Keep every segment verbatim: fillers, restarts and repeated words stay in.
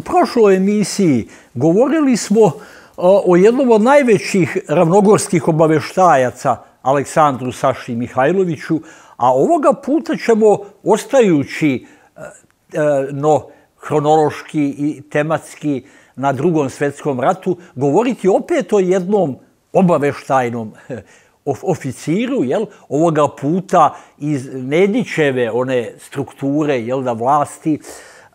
U prošloj emisiji govorili smo o jednom od najvećih ravnogorskih obaveštajaca, Aleksandru Saši Mihajloviću, a ovoga puta ćemo, ostajući no, hronološki i tematski na Drugom svjetskom ratu, govoriti opet o jednom obaveštajnom oficiru, jel, ovoga puta iz Nedićeve one strukture, jel, da vlasti,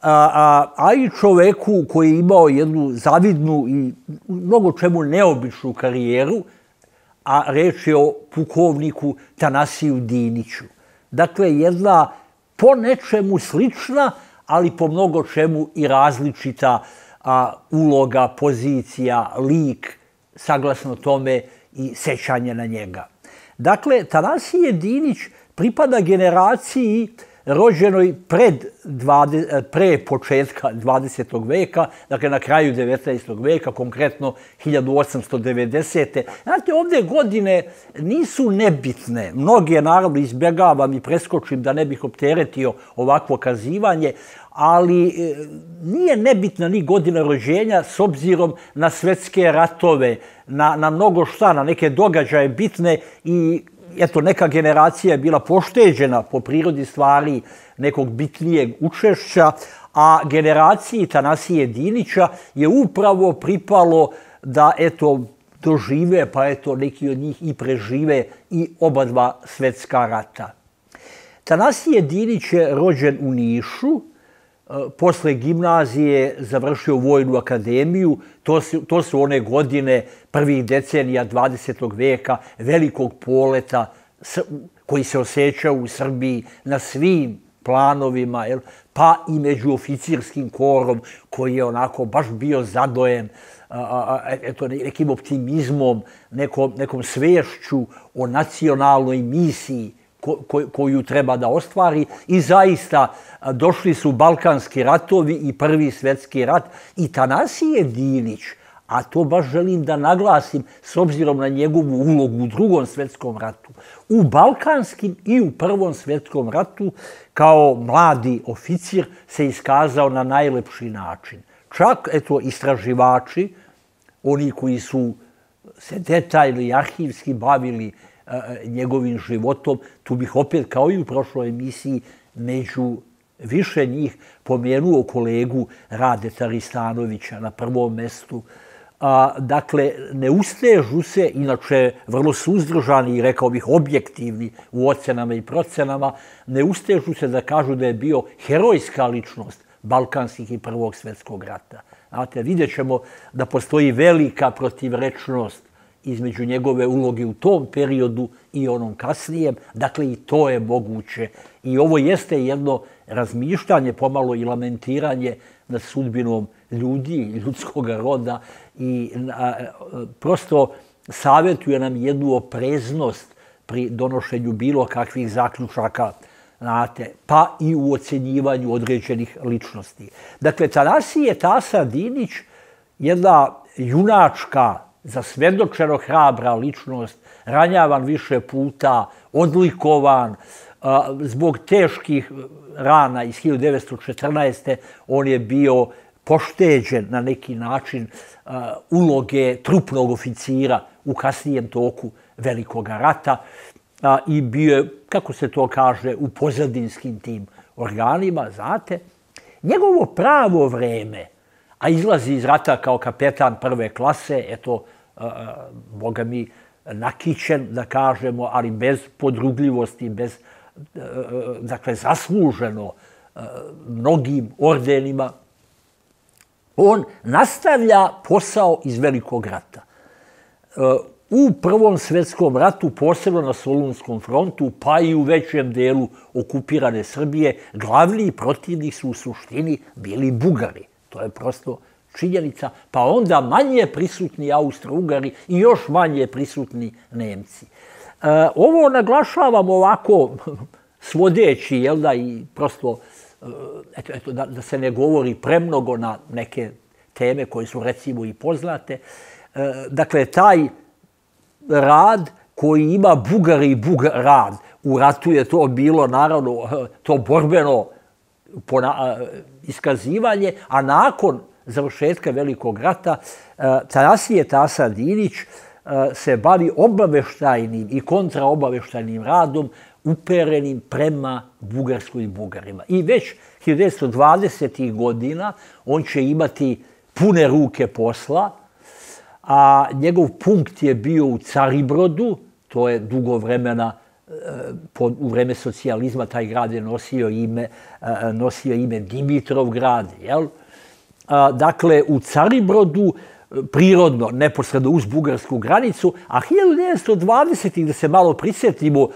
a, a, a i čoveku koji je imao jednu zavidnu i mnogo čemu neobičnu karijeru, a reč je o pukovniku Tanasiju Diniću. Dakle, jedna po nečemu slična, ali po mnogo čemu i različita a, uloga, pozicija, lik, saglasno tome i sećanje na njega. Dakle, Tanasije Dinić pripada generaciji rođenoj pred pre početka dvadesetog veka, dakle na kraju devetnaestog veka, konkretno hiljadu osamsto devedesete. Znate, ovdje godine nisu nebitne. Mnoge, naravno, izbjegavam i preskočim da ne bih opteretio ovakvo kazivanje, ali nije nebitna ni godina rođenja s obzirom na svetske ratove, na, na mnogo šta, na neke događaje bitne i eto, neka generacija je bila pošteđena po prirodi stvari nekog bitnijeg učešća, a generaciji Tanasije Dinića je upravo pripalo da, eto, dožive, pa eto, neki od njih i prežive i oba dva svetska rata. Tanasije Dinić je rođen u Nišu, posle gimnazije završio Vojnu akademiju. To su, to su one godine prvih decenija dvadesetog veka, velikog poleta koji se osjeća u Srbiji na svim planovima, jel? Pa i među oficirskim korom koji je onako baš bio zadojen a, a, eto, nekim optimizmom, nekom, nekom svešću o nacionalnoj misiji koju treba da ostvari. I zaista došli su Balkanski ratovi i Prvi svjetski rat i Tanasije Dinić, a to baš želim da naglasim s obzirom na njegovu ulogu u Drugom svjetskom ratu, u Balkanskim i u Prvom svjetskom ratu kao mladi oficir se iskazao na najlepši način. Čak, eto, istraživači, oni koji su se detaljno i arhivski bavili njegovim životom, tu bih opet, kao i u prošloj emisiji, među više njih pomenuo kolegu Radeta Ristanovića na prvom mestu. A, dakle, ne ustežu se, inače vrlo suzdržani i rekao bih objektivni u ocenama i procenama, ne ustežu se da kažu da je bio herojska ličnost Balkanskih i Prvog svjetskog rata. Znate, vidjet ćemo da postoji velika protivrečnost između njegove uloge u tom periodu i onom kasnijem. Dakle, i to je moguće. I ovo jeste jedno razmišljanje, pomalo i lamentiranje nad sudbinom ljudi, ljudskog roda i a, prosto savjetuje nam jednu opreznost pri donošenju bilo kakvih zaključaka, znate, pa i u ocenjivanju određenih ličnosti. Dakle, Tanasije Tasa Dinić, jedna junačka, zasvjedočeno hrabra ličnost, ranjavan više puta, odlikovan, zbog teških rana iz hiljadu devetsto četrnaeste. on je bio pošteđen na neki način uloge trupnog oficira u kasnijem toku Velikog rata i bio je, kako se to kaže, u pozadinskim tim organima, znate. Njegovo pravo vreme, a izlazi iz rata kao kapetan prve klase, eto, boga mi, nakićen, da kažemo, ali bez podrugljivosti, bez, dakle, zasluženo mnogim ordenima. On nastavlja posao iz Velikog rata. U Prvom svjetskom ratu, posebno na Solunskom frontu, pa i u većem delu okupirane Srbije, glavni protivnik su u suštini bili Bugari. To je prosto činjenica, pa onda manje prisutni Austro-Ugari i još manje prisutni Nemci. E, ovo naglašavam ovako svodeći, jel da, i prosto, eto, eto, da, da se ne govori premnogo na neke teme koje su recimo i poznate. E, dakle, taj rad koji ima Bugari i Bugar rad, u ratu je to bilo, naravno, to borbeno iskazivanje, a nakon završetka Velikog rata Tanasije Tasa Dinić se bavi obaveštajnim i kontraobaveštajnim radom uperenim prema Bugarskoj i Bugarima. I već hiljadu devetsto dvadesetih godina on će imati pune ruke posla, a njegov punkt je bio u Caribrodu, to je dugo vremena, u vreme socijalizma taj grad je nosio ime, nosio ime Dimitrovgrad, jel? Dakle, u Caribrodu, prirodno, neposredno uz bugarsku granicu, a hiljadu devetsto dvadesetih, da se malo prisjetimo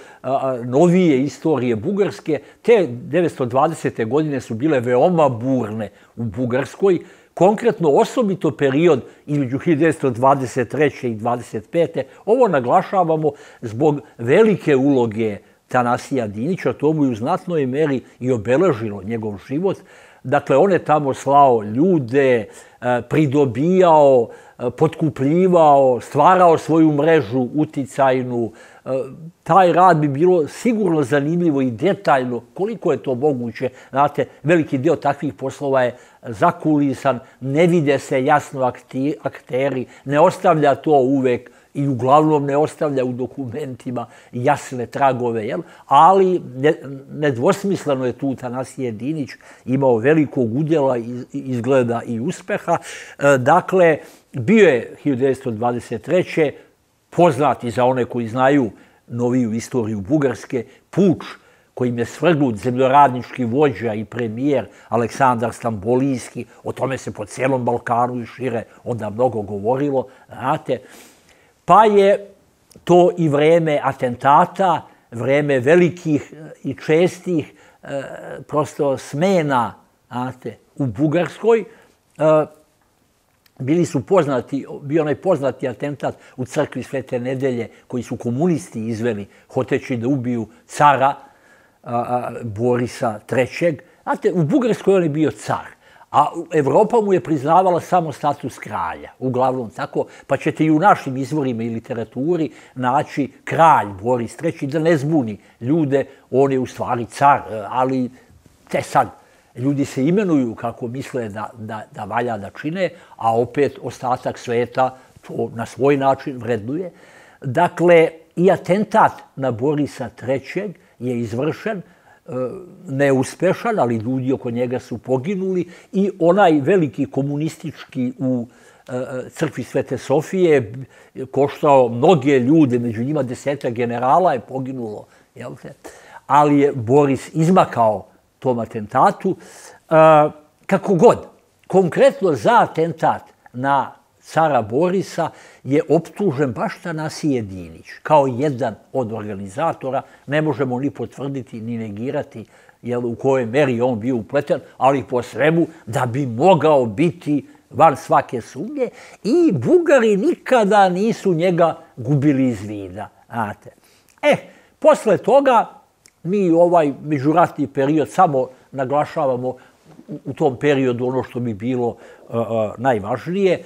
novije istorije Bugarske, te devetsto dvadesete godine su bile veoma burne u Bugarskoj, konkretno osobito period između hiljadu devetsto dvadeset treće i dvadeset pete Ovo naglašavamo zbog velike uloge Tanasija Dinića, to mu je u znatnoj meri i obeležilo njegov život. Dakle, on je tamo slao ljude, pridobijao, potkupljivao, stvarao svoju mrežu uticajnu. Taj rad bi bilo sigurno zanimljivo i detaljno, koliko je to moguće. Znate, veliki dio takvih poslova je zakulisan, ne vide se jasno akteri, ne ostavlja to uvek i uglavnom ne ostavlja u dokumentima jasne tragove, jel? Ali nedvosmisleno je tu Tanasije Dinić imao velikog udjela, izgleda i uspeha. Dakle, bio je hiljadu devetsto dvadeset treće poznati za one koji znaju noviju istoriju Bugarske, puč kojim je svrgnut zemljoradnički vođa i premijer Aleksandar Stambolijski. O tome se po cijelom Balkanu i šire onda mnogo govorilo, znate. Pa je to i vreme atentata, vreme velikih i čestih prosto smena, znate, u Bugarskoj. Bili su poznati, bio onaj poznati atentat u crkvi Svete Nedelje koji su komunisti izveli hoteći da ubiju cara Borisa trećeg. Znate, u Bugarskoj on je bio car, a Evropa mu je priznavala samo status kralja, uglavnom tako, pa ćete i u našim izvorima i literaturi naći kralj Boris treći, da ne zbuni ljude, on je u stvari car, ali te sad, ljudi se imenuju kako misle da, da, da valja da čine, a opet ostatak sveta to na svoj način vrednuje. Dakle, i atentat na Borisa trećeg je izvršen, neuspešan, ali ljudi oko njega su poginuli, i onaj veliki komunistički u crkvi Svete Sofije koštao mnoge ljude, među njima desetak generala je poginulo, jel te? Ali je Boris izmakao tom atentatu. Kako god, konkretno za atentat na cara Borisa je optužen baš Tanasije Dinić, kao jedan od organizatora. Ne možemo ni potvrditi, ni negirati u kojoj meri je on bio upleten, ali po svemu da bi mogao biti van svake sumnje, i Bugari nikada nisu njega gubili iz vida. E, posle toga mi ovaj međuratni period samo naglašavamo u tom periodu ono što bi bilo najvažnije.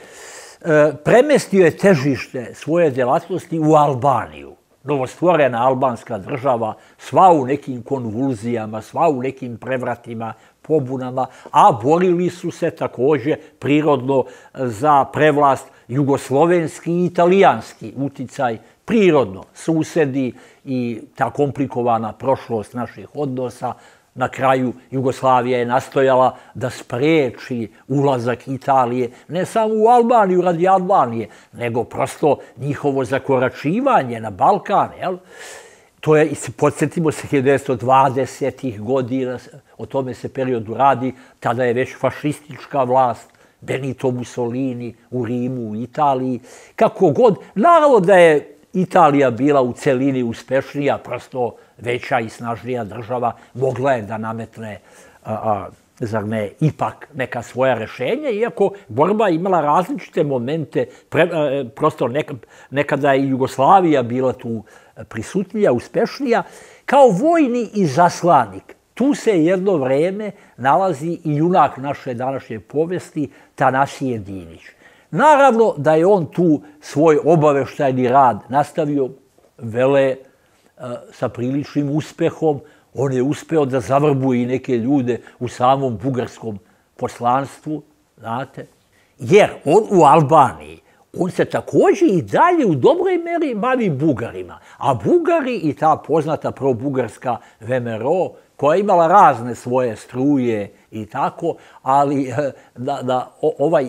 Premestio je težište svoje djelatnosti u Albaniju. Novostvorena albanska država, sva u nekim konvulzijama, sva u nekim prevratima, pobunama, a borili su se također prirodno za prevlast jugoslovenski i italijanski uticaj, prirodno susedi i ta komplikovana prošlost naših odnosa. Na kraju Jugoslavija je nastojala da spreči ulazak Italije ne samo u Albaniju radi Albanije, nego prosto njihovo zakoračivanje na Balkan. To je, podsjetimo se, hiljadu devetsto dvadesetih godina, o tome se periodu radi, tada je već fašistička vlast, Benito Mussolini u Rimu, u Italiji. Kako god, naravno da je Italija bila u celini uspešnija, prosto veća i snažnija država, mogla je da nametne, zar ne, ipak neka svoja rešenja, iako borba imala različite momente, prosto nekada je i Jugoslavija bila tu prisutnija, uspešnija. Kao vojni izaslanik, tu se jedno vreme nalazi i junak naše današnje povesti, Tanasije Dinić. Naravno da je on tu svoj obaveštajni rad nastavio vele sa priličnim uspehom. On je uspeo da zavrbuje i neke ljude u samom bugarskom poslanstvu, znate. Jer on u Albaniji, on se također i dalje u dobroj meri bavi Bugarima. A Bugari i ta poznata pro-bugarska V M R O, koja je imala razne svoje struje i tako, ali da, da ovaj,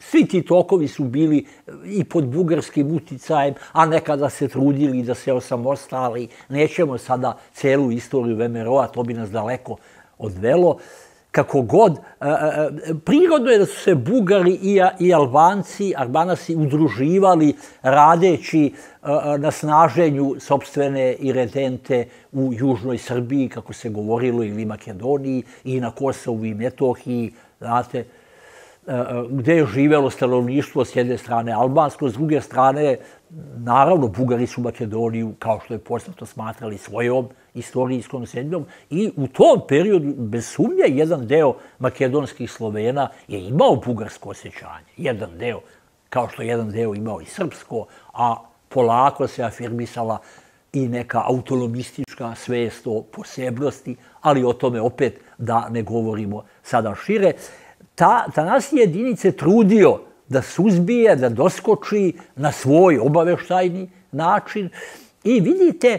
svi ti tokovi su bili i pod bugarskim uticajem, a nekada se trudili da se osamostali. Nećemo sada celu istoriju V M R O-a, to bi nas daleko odvelo. Kako god, prirodno je da su se Bugari i Albanci, Albanasi udruživali radeći na snaženju sopstvene iredente u južnoj Srbiji, kako se govorilo, ili Makedoniji, i na Kosovu i Metohiji, znate, gde je živelo stanovništvo s jedne strane albansko, s druge strane, naravno, Bugari su Makedoniju, kao što je poznato, smatrali svojom istorijskom zemljom i u tom periodu, bez sumnje, jedan deo makedonskih Slovena je imao bugarsko osjećanje. Jedan deo, kao što je jedan deo imao i srpsko, a polako se afirmisala i neka autonomistička svest o posebnosti, ali o tome opet da ne govorimo sada šire. Ta, ta nas je jedinice trudio da suzbije, da doskoči na svoj obaveštajni način i vidite,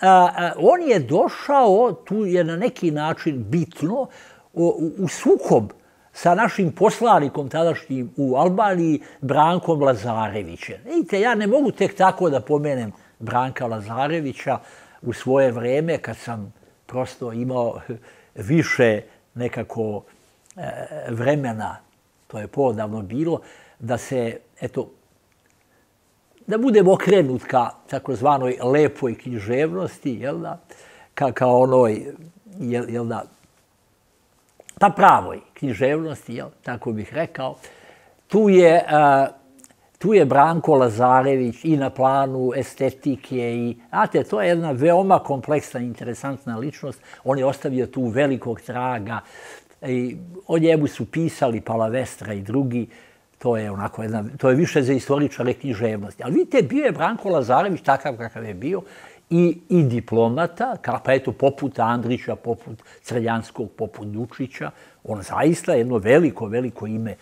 a, on je došao, tu je na neki način bitno, u, u sukob sa našim poslanikom tadašnjim u Albaniji, Brankom Lazarevićem. Vidite, ja ne mogu tek tako da pomenem Branka Lazarevića u svoje vreme, kad sam prosto imao više nekako vremena, to je poodavno bilo, da se, eto, da budem okrenut ka takozvanoj lepoj književnosti, jel da, ka, ka onoj, jel, jel da, pa pravoj književnosti, jel, tako bih rekao. Tu je, a, tu je Branko Lazarević i na planu estetike i, znate, to je jedna veoma kompleksna, interesantna ličnost. On je ostavio tu velikog traga. I o njemu su pisali Palavestra i drugi, to je onako jedna, to je više za istoričare književnosti. Ali vidite, bio je Branko Lazarević takav kakav je bio i, i diplomata, pa eto, poput Andrića, poput Crljanskog, poput Dučića. On zaista je jedno veliko, veliko ime e,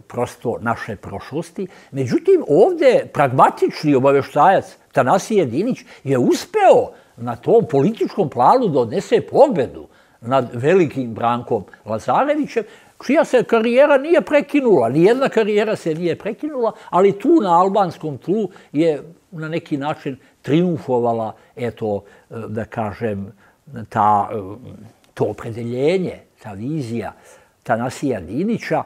prosto naše prošlosti. Međutim, ovdje pragmatični obaveštajac Tanasije Dinić je uspeo na tom političkom planu da odnese pobedu nad velikim Brankom Lazarevićem, čija se karijera nije prekinula. Nijedna karijera se nije prekinula, ali tu na albanskom tlu je na neki način triumfovala, eto, da kažem, ta, to opredeljenje, ta vizija Tanasija Dinića,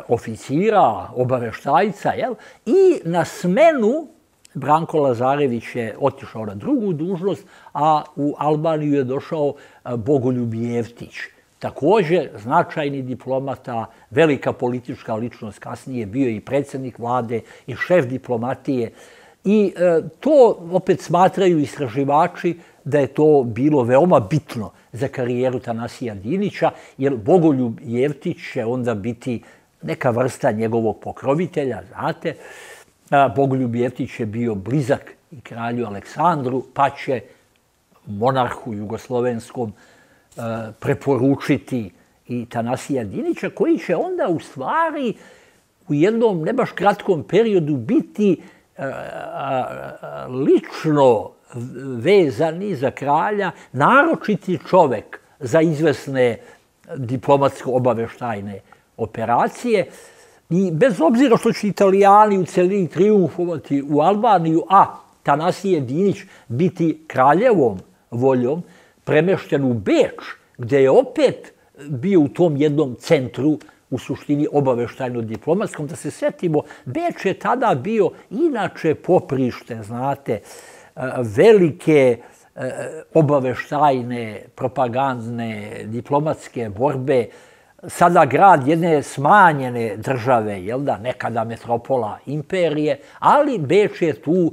oficira, obaveštajca, jel? I na smenu Branko Lazarević je otišao na drugu dužnost, a u Albaniju je došao Bogoljub Jeftić. Također značajni diplomata, velika politička ličnost, kasnije bio i predsjednik vlade i šef diplomatije. I e, to opet smatraju istraživači da je to bilo veoma bitno za karijeru Tanasija Dinića, jer Bogoljub Jeftić će onda biti neka vrsta njegovog pokrovitelja, znate. Bogoljub Jeftić je bio blizak i kralju Aleksandru, pa će monarhu jugoslovenskom preporučiti i Tanasija Dinića, koji će onda u stvari u jednom ne baš kratkom periodu biti lično vezani za kralja, naročiti čovek za izvesne diplomatsko-obaveštajne operacije. I bez obzira što će Italijani u celini triumfovati u Albaniju, a Tanasije Dinić biti kraljevom voljom, premešten u Beč, gdje je opet bio u tom jednom centru, u suštini obaveštajno-diplomatskom. Da se setimo, Beč je tada bio inače poprište, znate, velike obaveštajne, propagandne, diplomatske borbe, sada grad jedne smanjene države, jel da, nekada metropola imperije, ali Beč je tu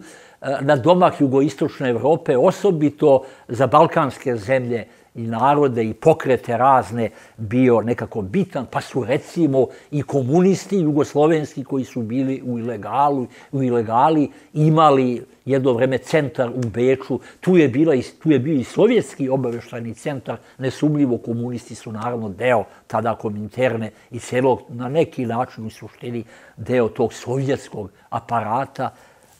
na domak jugoistočne Evrope, osobito za balkanske zemlje, i narode i pokrete razne bio nekako bitan, pa su recimo i komunisti jugoslovenski koji su bili u ilegalu, u ilegali imali jedno vreme centar u Beču, tu je, bila, tu je bio i sovjetski obavještajni centar, nesumljivo komunisti su naravno deo tada Kominterne i celog, na neki način u suštini deo tog sovjetskog aparata.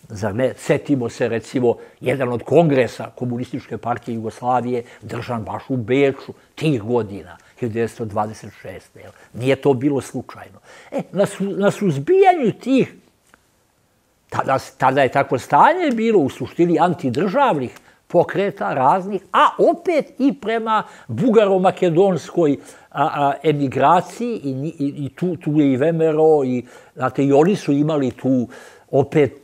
Zar ne? Setimo se, recimo, jedan od kongresa Komunističke partije Jugoslavije držan baš u Beču tih godina, hiljadu devetsto dvadeset šeste. Nije to bilo slučajno. E, na, su, na suzbijanju tih, tada, tada je takvo stanje bilo u suštini antidržavnih pokreta raznih, a opet i prema bugaro-makedonskoj a, a, emigraciji i, i, i tu, tu je i Vemero i, znate, i oni su imali tu opet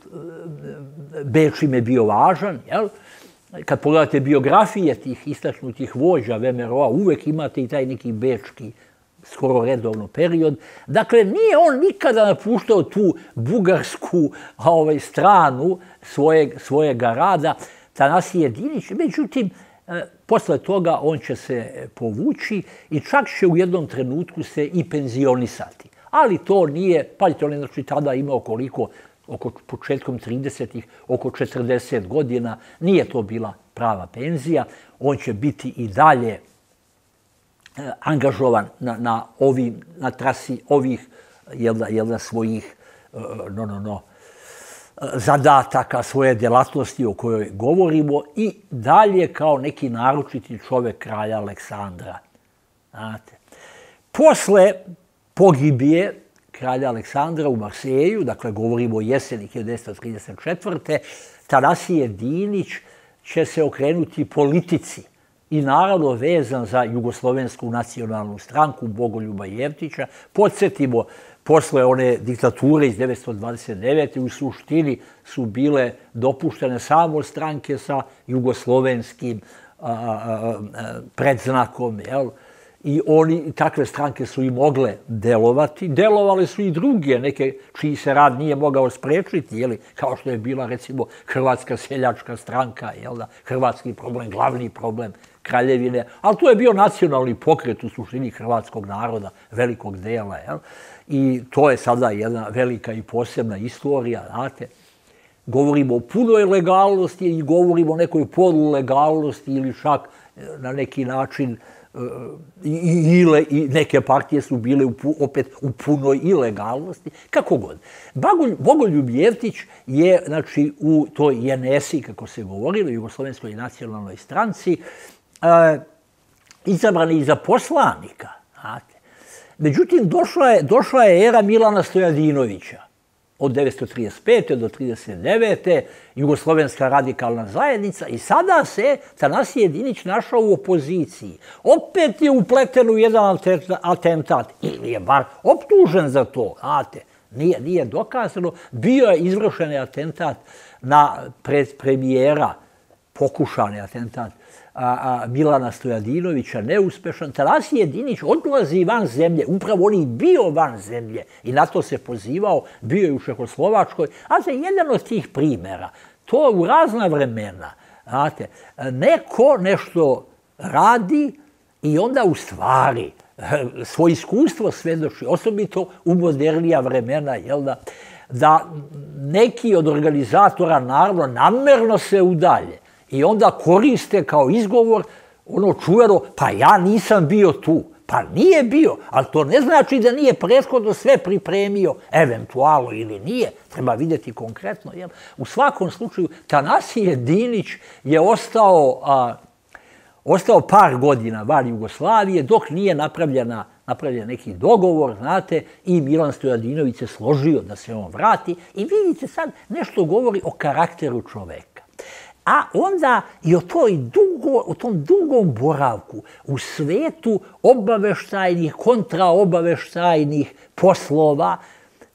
Beč im je bio važan, jel? Kad pogledate biografije tih istaknutih vođa Vemeroa, uvek imate i taj neki bečki, skoro redovno period. Dakle, nije on nikada napuštao tu bugarsku ovaj, stranu svojeg, svojega rada, Tanasije Dinić. Međutim, posle toga on će se povući i čak će u jednom trenutku se i penzionisati. Ali to nije, pazite, on je znači tada imao koliko, oko početkom tridesetih, oko četrdeset godina, nije to bila prava penzija. On će biti i dalje angažovan na, na, ovim, na trasi ovih jelda, jelda svojih no, no, no, zadataka, svoje djelatnosti o kojoj govorimo i dalje kao neki naročiti čovek kralja Aleksandra. Znate. Posle pogibije kralja Aleksandra u Marseju, dakle govorimo o jeseni hiljadu devetsto trideset četvrte. Tanasije Dinić će se okrenuti politici i naravno vezan za Jugoslovensku nacionalnu stranku Bogoljuba Jevtića. Podsjetimo, posle one diktature iz devetsto dvadeset devete u suštini su bile dopuštene samo stranke sa jugoslovenskim a, a, a, predznakom, jel? I oni, takve stranke su i mogle delovati. Delovale su i druge, neke čiji se rad nije mogao sprečiti, jeli, kao što je bila recimo Hrvatska seljačka stranka, jel da, hrvatski problem, glavni problem Kraljevine, ali to je bio nacionalni pokret u suštini hrvatskog naroda, velikog dela, jel? I to je sada jedna velika i posebna istorija, znate. Govorimo o punoj legalnosti i govorimo o nekoj polulegalnosti ili čak na neki način I, i, i neke partije su bile u, opet u punoj ilegalnosti, kako god. Bogoljub Jevtić je, znači, u toj J N S I, kako se govorilo, Jugoslovenskoj nacionalnoj stranci, e, izabran i za poslanika. Znate. Međutim, došla je, došla je era Milana Stojadinovića. Od devetsto trideset pete do trideset devete Jugoslovenska radikalna zajednica i sada se Tanasije Dinić našao u opoziciji. Opet je upleten u jedan atentat ili je bar optužen za to, znate, nije, nije dokazano. Bio je izvršen atentat na premijera, pokušani atentat a, a, Milana Stojadinovića, neuspešan. Tanasije Dinić odlazi van zemlje, upravo on i bio van zemlje i na to se pozivao, bio je u Čehoslovačkoj, a za jedan od tih primjera, to u razna vremena, znate, neko nešto radi i onda u stvari svoje iskustvo svedoči, osobito u modernija vremena, jel da, da neki od organizatora naravno namerno se udalje i onda koriste kao izgovor ono čuveno, pa ja nisam bio tu. Pa nije bio, ali to ne znači da nije prethodno sve pripremio, eventualno ili nije, treba vidjeti konkretno. Jel? U svakom slučaju, Tanasije Dinić je ostao, a, ostao par godina van Jugoslavije, dok nije napravljena, napravljen neki dogovor, znate, i Milan Stojadinović se složio da se on vrati. I vidite sad, nešto govori o karakteru čoveka. A onda i o, toj dugo, o tom dugom boravku u svetu obaveštajnih, kontraobaveštajnih poslova,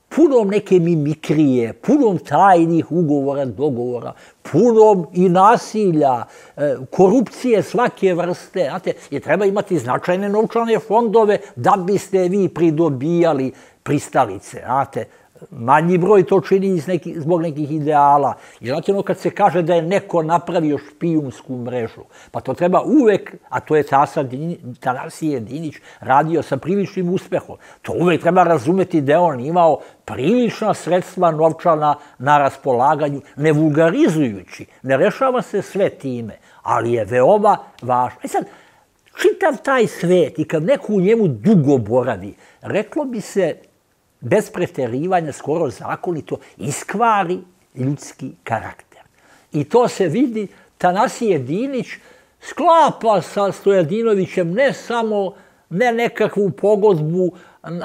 punom neke mimikrije, punom tajnih ugovora, dogovora, punom i nasilja, korupcije svake vrste. Znate, je treba imati značajne novčane fondove da biste vi pridobijali pristalice, znate, manji broj to čini zbog nekih ideala. I znate ono kad se kaže da je neko napravio špijunsku mrežu, pa to treba uvek, a to je Tanasije Dinić radio sa priličnim uspehom, to uvek treba razumeti da je on imao prilična sredstva novčana na raspolaganju, ne vulgarizujući, ne rešava se sve time, ali je veoma važno. E sad, čitav taj svet i kad neko u njemu dugo boravi, reklo bi se, bez preterivanja, skoro zakonito, iskvari ljudski karakter. I to se vidi, Tanasije Dinić sklapa sa Stojadinovićem ne samo, ne nekakvu pogodbu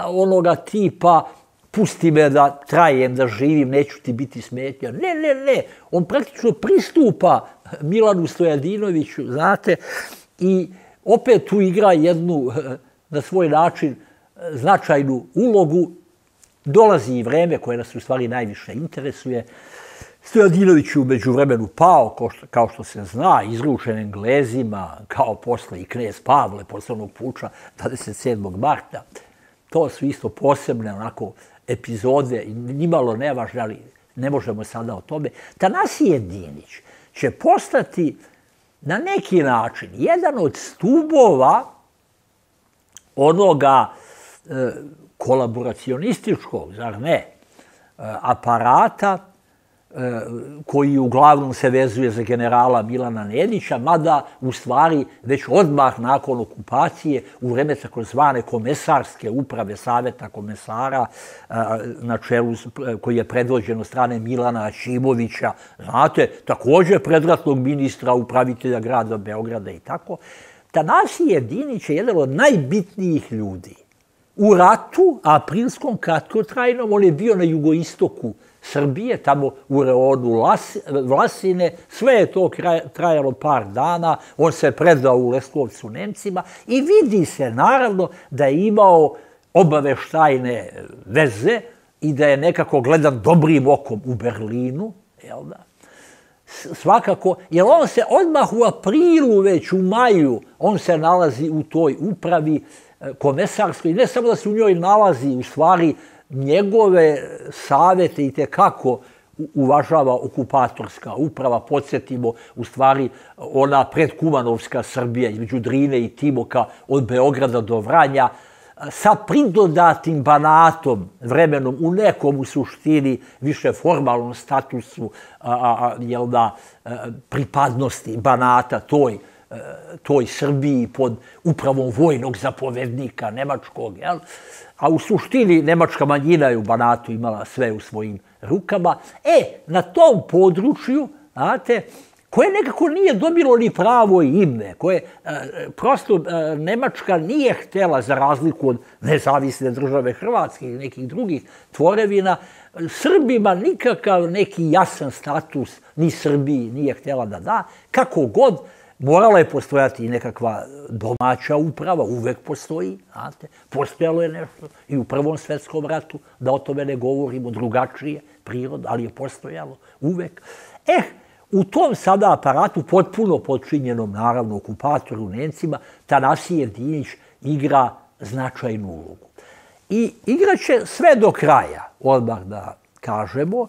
onoga tipa pusti me da trajem, da živim, neću ti biti smetnja. Ne, ne, ne. On praktično pristupa Milanu Stojadinoviću, znate, i opet tu igra jednu, na svoj način, značajnu ulogu. Dolazi i vreme koje nas u stvari najviše interesuje. Stojadinović je umeđu vremenu pao, kao što se zna, izručen Englezima, kao posle i knez Pavle, posle onog puča dvadeset sedmog marta. To su isto posebne onako epizode, nimalo nevažne, ali ne možemo sada o tome. Tanasije Dinić će postati na neki način jedan od stubova onoga kolaboracionističkog, zar ne, aparata koji uglavnom se vezuje za generala Milana Nedića, mada u stvari već odmah nakon okupacije u vreme takozvane komesarske uprave Saveta komesara na čelu koji je predvođen od strane Milana Aćimovića, znate, također predratnog ministra, upravitelja grada Beograda i tako, Tanasije Dinić je jedan od najbitnijih ljudi. U ratu, aprilskom kratkotrajnom, on je bio na jugoistoku Srbije, tamo u reonu Vlasine, sve je to trajalo par dana, on se predao u Leskovcu Nemcima i vidi se naravno da je imao obaveštajne veze i da je nekako gledan dobrim okom u Berlinu, jel da? Svakako, jer on se odmah u aprilu, već u maju, on se nalazi u toj upravi komesarskoj, ne samo da se u njoj nalazi, u stvari njegove savete i tekako uvažava okupatorska uprava, podsjetimo, u stvari ona predkumanovska Srbija između Drine i Timoka od Beograda do Vranja, sa pridodatim Banatom, vremenom u nekom u suštini više formalnom statusu pripadnosti Banata toj toj Srbiji pod upravom vojnog zapovednika Nemačkog, a u suštini nemačka manjina je u Banatu imala sve u svojim rukama. E, na tom području, znate, koje nekako nije dobilo ni pravo ime, koje prosto Nemačka nije htjela, za razliku od nezavisne države Hrvatske i nekih drugih tvorevina, Srbima nikakav neki jasan status ni Srbiji nije htjela da da, kako god. Morala je postojati i nekakva domaća uprava, uvek postoji, znate, postojalo je nešto i u Prvom svetskom ratu, da o tome ne govorimo, drugačije prirod, ali je postojalo uvek. Eh, u tom sada aparatu, potpuno podčinjenom, naravno, okupatoru Nemcima, Tanasije Dinić igra značajnu ulogu. I igraće sve do kraja, odmah da kažemo.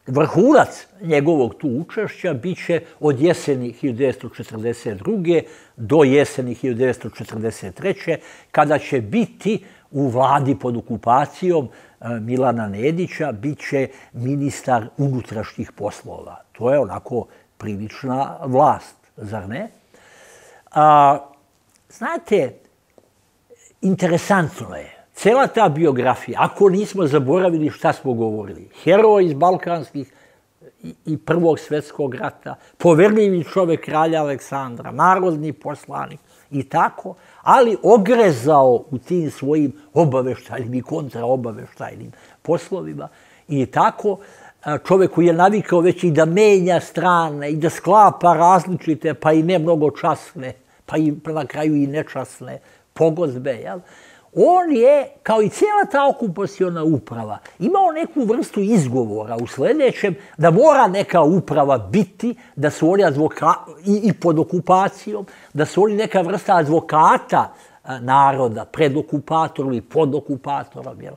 Vrhunac njegovog tu učešća bit će od jeseni hiljadu devetsto četrdeset druge do jeseni hiljadu devetsto četrdeset treće kada će biti u vladi pod okupacijom Milana Nedića, bit će ministar unutrašnjih poslova. To je onako prilična vlast, zar ne? A, znate, interesantno je, cela ta biografija, ako nismo zaboravili šta smo govorili, heroj iz balkanskih i Prvog svjetskog rata, poverljivi čovjek kralja Aleksandra, narodni poslanik i tako, ali ogrezao u tim svojim obaveštajnim i kontraobaveštajnim poslovima i tako, čovjek koji je navikao već i da menja strane i da sklapa različite, pa i ne mnogo časne, pa i na kraju i nečasne pogodbe, jel? On je, kao i cijela ta okupaciona uprava, imao neku vrstu izgovora u sljedećem da mora neka uprava biti, da su oni advokati i pod okupacijom, da su oni neka vrsta advokata naroda, pred okupatorom i pod okupatorom, jel?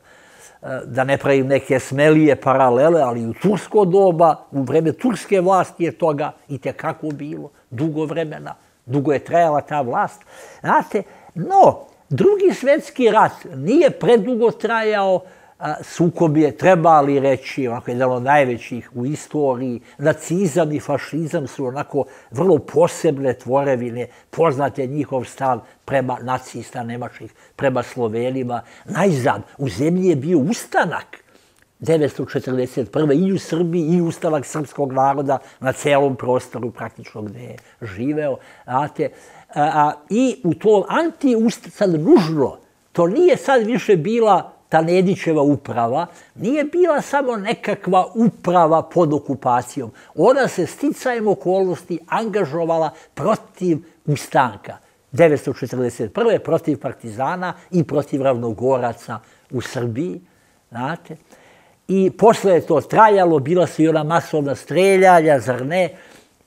Da ne pravim neke smelije paralele, ali u tursko doba, u vreme turske vlasti je toga i tekako bilo, dugo vremena, dugo je trajala ta vlast. Znate, no, Drugi svjetski rat nije predugo trajao, sukob je, treba li reći, onako jedan od najvećih u istoriji. Nacizam i fašizam su onako vrlo posebne tvorevine, poznate njihov stav prema nacista nemačkih, prema Slovenima. Najzad, u zemlji je bio ustanak devetsto četrdeset prve i u Srbiji i ustanak srpskog naroda na celom prostoru praktično gde je živeo. Znate, i u tom anti-ustanak, sad nužno, to nije sad više bila ta Nedićeva uprava, nije bila samo nekakva uprava pod okupacijom. Ona se sticajem okolnosti angažovala protiv ustanka devetsto četrdeset prve protiv partizana i protiv ravnogoraca u Srbiji. Znate? I posle je to trajalo, bila su i ona masovna streljanja, zar ne?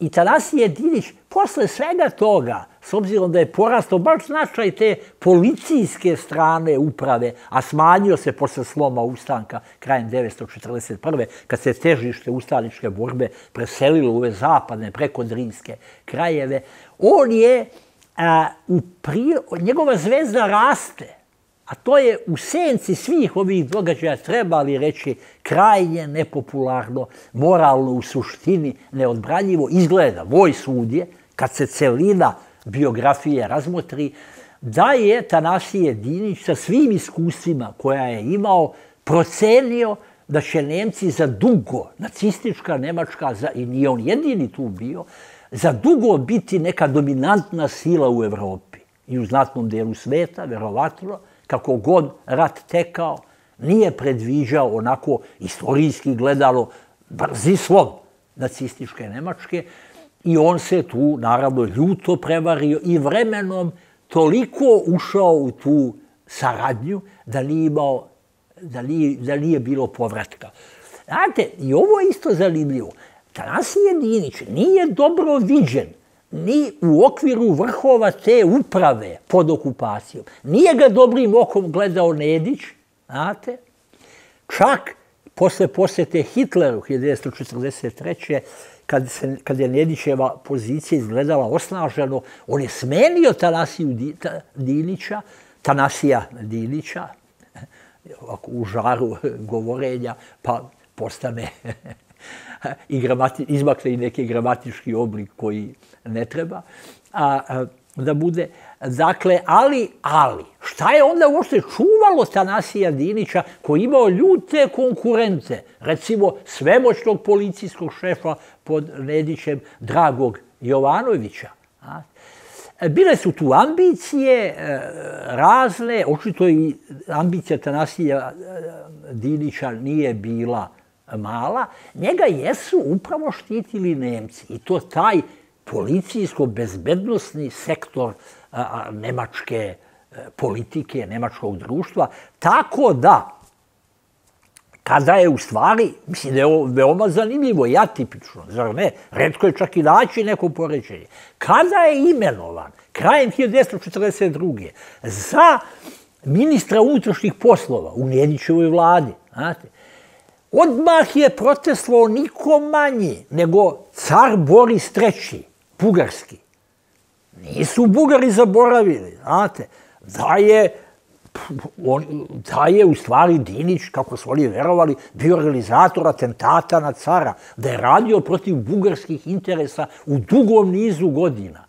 I Tanasije Dinić, posle svega toga, s obzirom da je porastao baš značaj te policijske strane uprave, a smanjio se posle sloma ustanka krajem devetsto četrdeset prve kad se težište ustaničke borbe preselilo u ove zapadne, prekodrinske krajeve, on je, a, u pri... njegova zvezda raste. A to je u senci svih ovih događaja, treba li reći, krajnje nepopularno, moralno u suštini neodbranjivo izgleda. Moj sud je, kad se celina biografije razmotri, da je Tanasije Dinić sa svim iskustvima koja je imao procenio da će Nemci za dugo, nacistička Nemačka, i nije on jedini tu bio, za dugo biti neka dominantna sila u Evropi i u znatnom delu sveta, verovatno, kako god rat tekao, nije predviđao onako istorijski gledalo brzi slom nacističke Nemačke i on se tu naravno ljuto prevario i vremenom toliko ušao u tu saradnju da nije imao, da nije, da nije bilo povratka. Znate, i ovo je isto zanimljivo. Tanasije Dinić nije dobro viđen ni u okviru vrhova te uprave pod okupacijom. Nije ga dobrim okom gledao Nedić, znate. Čak posle posjete Hitleru hiljadu devetsto četrdeset treće kad, se, kad je Nedićeva pozicija izgledala osnaženo, on je smenio Tanasiju Dinića, Tanasija Dinića, u žaru govorenja, pa postane i gramati, izmakne i neki gramatički oblik koji ne treba a, a, da bude. Dakle, ali, ali, šta je onda uopšte čuvalo Tanasija Dinića koji imao ljute konkurente, recimo svemoćnog policijskog šefa pod Nedićem Dragog Jovanovića. A? Bile su tu ambicije razne, očito i ambicija Tanasija Dinića nije bila mala, njega jesu upravo štitili Nemci i to taj policijsko-bezbednosni sektor a, nemačke politike, nemačkog društva, tako da kada je u stvari, mislim da je ovo veoma zanimljivo i atipično, zar ne, retko je čak i naći neko poređenje, kada je imenovan krajem hiljadu devetsto četrdeset druge za ministra unutrašnjih poslova u Nedićevoj vladi, znate, odmah je protestovao niko manji nego car Boris treći, bugarski. Nisu Bugari zaboravili, znate, da je, on, da je u stvari Dinić, kako su oni verovali, bio organizator atentata na cara, da je radio protiv bugarskih interesa u dugom nizu godina.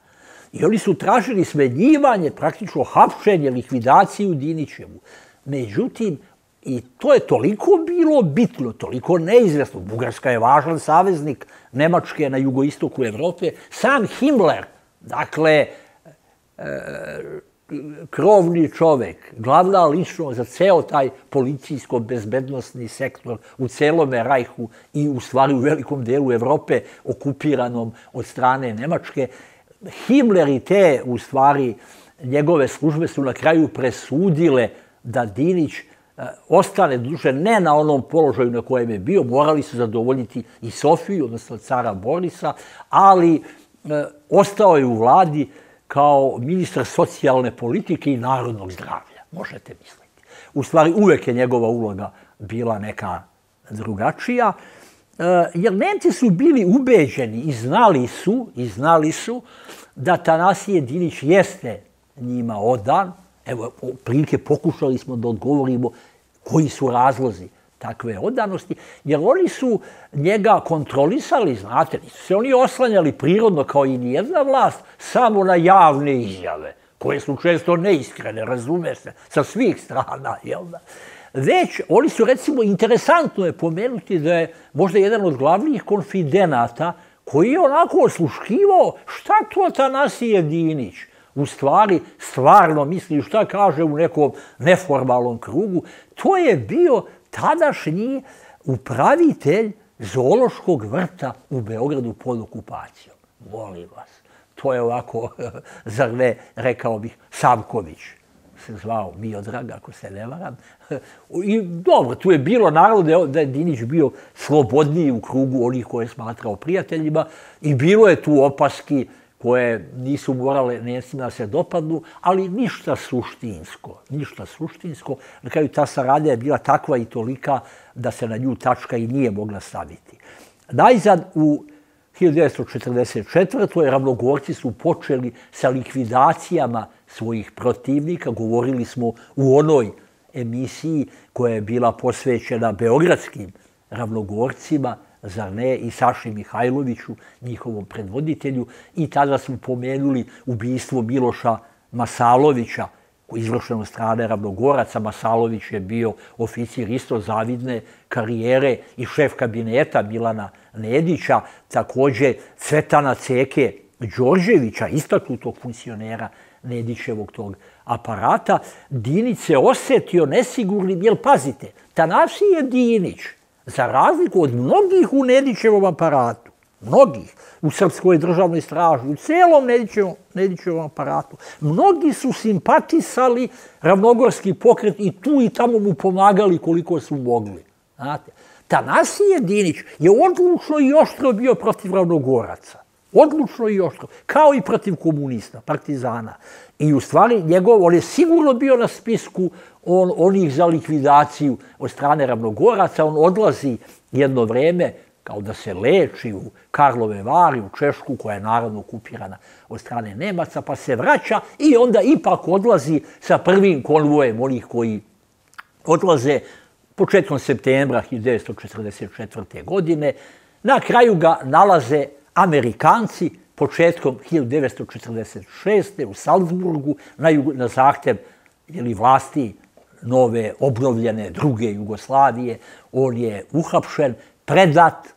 I oni su tražili smenjivanje, praktično hapšenje, likvidaciju Dinićevu. Međutim, i to je toliko bilo bitno, toliko neizvesno. Bugarska je važan saveznik Nemačke na jugoistoku Evrope. Sam Himmler, dakle, krovni čovek, glavna ličnost za ceo taj policijsko-bezbednostni sektor u celome Rajhu i u stvari u velikom delu Evrope okupiranom od strane Nemačke. Himmler i te, u stvari, njegove službe su na kraju presudile da Dinić ostane duže ne na onom položaju na kojem je bio, morali su zadovoljiti i Sofiju, odnosno cara Borisa, ali e, ostao je u vladi kao ministar socijalne politike i narodnog zdravlja, možete misliti. U stvari, uvek je njegova uloga bila neka drugačija, jer Nemci su bili ubeđeni i znali su, i znali su da Tanasije Dinić jeste njima odan. Evo, prilike pokušali smo da odgovorimo koji su razlozi takve odanosti, jer oni su njega kontrolisali, znate, nisu se oni oslanjali prirodno kao i nijedna vlast, samo na javne izjave, koje su često neiskrene, razume se, sa svih strana, jel da? Već, oni su, recimo, interesantno je pomenuti da je možda jedan od glavnih konfidenata koji je onako osluškivao šta to Tanasije Dinić u stvari stvarno misli, šta kaže u nekom neformalnom krugu. To je bio tadašnji upravitelj zoološkog vrta u Beogradu pod okupacijom. Molim vas, to je ovako, zar ne, rekao bih, Savković se zvao Miodrag, ako se ne varam. I dobro, tu je bilo naravno da je Dinić bio slobodniji u krugu onih koje je smatrao prijateljima i bilo je tu opaski koje nisu morale Nemcima da se dopadnu, ali ništa suštinsko, ništa suštinsko. Na kraju ta saradnja je bila takva i tolika da se na nju tačka i nije mogla staviti. Najzad u hiljadu devetsto četrdeset četvrtoj Ravnogorci su počeli sa likvidacijama svojih protivnika. Govorili smo u onoj emisiji koja je bila posvećena beogradskim Ravnogorcima, zar ne, i Saši Mihajloviću, njihovom predvoditelju. I tada smo pomenuli ubistvo Miloša Masalovića, izvršeno od strane Ravnogoraca. Masalović je bio oficir isto zavidne karijere i šef kabineta Milana Nedića, također Cvetana Ceke Đorđevića, istaknutog funkcionera Nedićevog tog aparata. Dinić se osjetio nesigurnim, jer pazite, Tanasije Dinić, za razliku od mnogih u Nedićevom aparatu, mnogih u Srpskoj državnoj straži, u celom Nedićevom, Nedićevom aparatu, mnogi su simpatisali Ravnogorski pokret i tu i tamo mu pomagali koliko su mogli. Znate, Tanasije Dinić je odlučno i oštro bio protiv Ravnogoraca. Odlučno i oštro. Kao i protiv komunista, partizana. I u stvari njegov, on je sigurno bio na spisku on, onih za likvidaciju od strane Ravnogoraca. On odlazi jedno vreme kao da se leči u Karlove Vari, u Češku, koja je naravno okupirana od strane Nemaca, pa se vraća i onda ipak odlazi sa prvim konvojem onih koji odlaze početkom septembra hiljadu devetsto četrdeset četvrte. godine. Na kraju ga nalaze Amerikanci početkom hiljadu devetsto četrdeset šeste. u Salzburgu na, na zahtev jeli, vlasti nove, obnovljene druge Jugoslavije. On je uhapšen, predat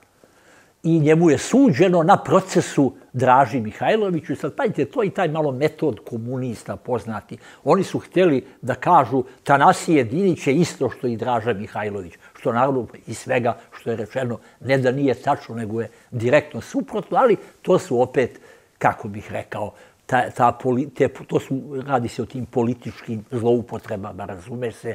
i njemu je suđeno na procesu Draži Mihajloviću. I sad, pazite, to je i taj malo metod komunista poznati. Oni su htjeli da kažu Tanasije Dinić je isto što i Draža Mihajlović. Što naravno i svega što je rečeno ne da nije tačno, nego je direktno suprotno, ali to su opet, kako bih rekao, ta, ta, te, to su, radi se o tim političkim zloupotrebama, razume se,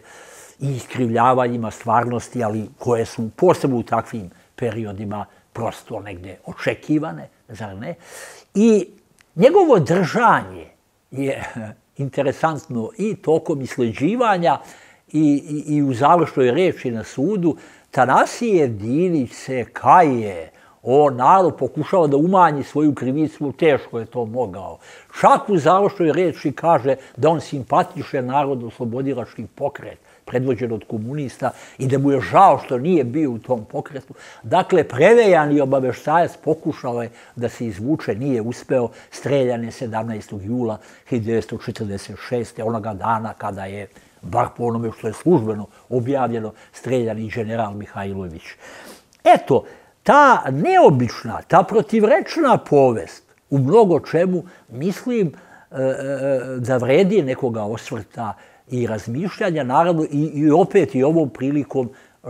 i iskrivljavanjima stvarnosti, ali koje su posebno u takvim periodima prosto negde očekivane, zar ne? I njegovo držanje je interesantno i tokom isleđivanja i, i, i u završnoj reči na sudu. Tanasije Dinić se kaje, on narod pokušava da umanji svoju krivicu, teško je to mogao. Čak u završnoj reči kaže da on simpatiše narodno-oslobodilački pokret, predvođen od komunista, i da mu je žao što nije bio u tom pokretu. Dakle, prevejani obaveštajac pokušao je da se izvuče, nije uspeo, streljan je sedamnaestog jula hiljadu devetsto četrdeset šeste. onoga dana kada je, bar po onome što je službeno objavljeno, streljan i general Mihajlović. Eto, ta neobična, ta protivrečna povest u mnogo čemu, mislim da vredi nekoga osvrta i razmišljanja. Naravno, i, i opet i ovom prilikom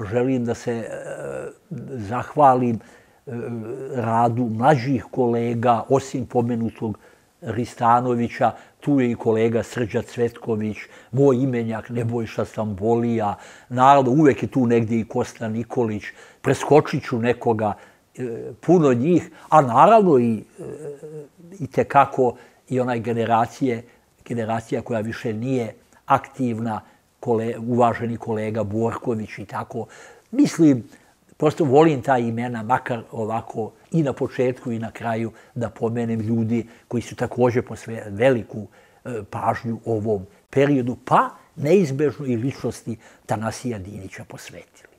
želim da se e, zahvalim e, radu mlađih kolega, osim pomenutog Ristanovića, tu je i kolega Srđa Cvetković, moj imenjak Nebojša Sambolija, naravno uvek je tu negdje i Kosta Nikolić, preskočit ću nekoga, e, puno njih, a naravno i, e, i tekako i onaj generacije, generacija koja više nije aktivna, kole, uvaženi kolega Borković i tako. Mislim, prosto volim ta imena, makar ovako i na početku i na kraju da pomenem ljudi koji su također posvetili veliku e, pažnju ovom periodu, pa neizbežno i ličnosti Tanasija Dinića posvetili.